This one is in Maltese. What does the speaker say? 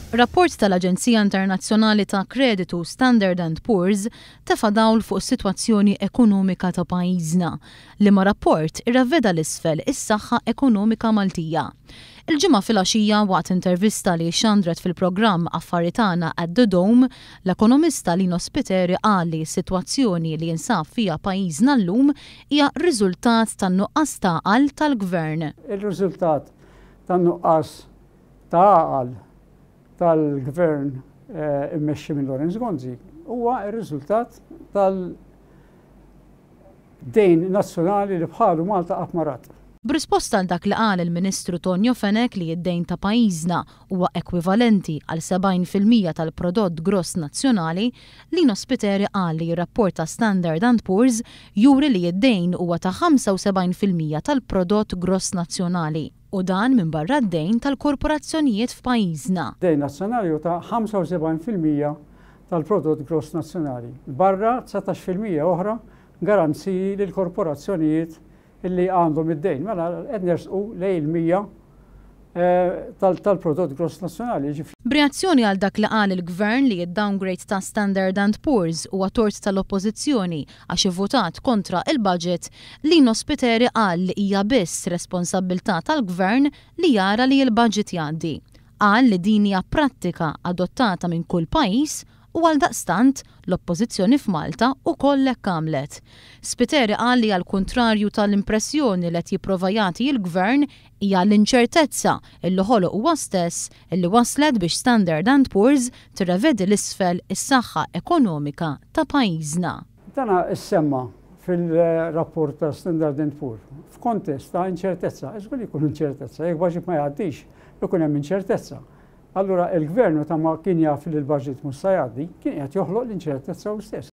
Rapport tal-Aġenzija Internazzjonali ta' Kreditu Standard and Poor's tefa' dawl fuq is-sitwazzjoni ekonomika ta' pajjiżna, liema rapport irreveda 'l isfel is-saħħa ekonomika Maltija. Il-Ġimgħa filgħaxija waqt intervista li xxandret fil-programm Affari Tagħna at The Dome, l-ekonomista Lino Spiteri qal li s-sitwazzjoni li jinsab fiha pajjiżna llum hija riżultat tan-nuqqas t'għaqal tal-Gvern. Ir-riżultat tan-nuqqas ta' għaqal tal-Gvern immexxi minn Lawrence Gonzi huwa r-riżultat tal-dejn nazzjonali li bħalu Malta qatt ma rat. B'risposta għal dak li qal il-Ministru Tonio Fenech li d-dejn ta' pajjiżna huwa ekwivalenti għal 70% tal-prodott gross nazzjonali, Lino Spiteri qal li r-rapport ta' Standard and Poor's juri li d-dejn huwa ta' 75% tal-prodott gross nazzjonali u dan minbarra d-dejn tal-korporazzjonijiet f'pajjiżna. Dejn nazzjonali hu ta' 75% tal-prodott gross nazzjonali, barra 19% oħra garanziji lill-korporazzjonijiet illi għandhom id-dejn. Mela qed nersqu lejn il-100 tal-prodott gross nazzjonali. B'reazzjoni għal dak li qal il-Gvern li d-downgrade ta' Standard and Poor's huwa tort tal-Oppożizzjoni għax ivvutat kontra il-budget, Lino Spiteri qal li hija biss responsabbiltà tal-Gvern li jara li l-budget jgħaddi. Qal li din hija prattika adottata minn kull pajjiż u għaldaqstant l-Oppożizzjoni f'Malta ukoll hekk għamlet. Spiteri qal li għall-kuntrarju tal-impressjoni li qed jipprova jagħti l-Gvern hija l-inċertezza illi ħoloq huwa stess illi wasslet biex Standard and Poor's tirrevedi 'l isfel is-saħħa ekonomika ta' pajjiżna. Dan issemma fil-rapport ta' Standard and Poor f'kontest ta' inċertezza. Żgur li jkun inċertezza, jekk budget ma jgħaddix, ikun hemm inċertezza. Allura il-gvern meta ma kien jaf li l-budget mhux se jgħaddi, kien qed joħloq l-inċertezza hu stess.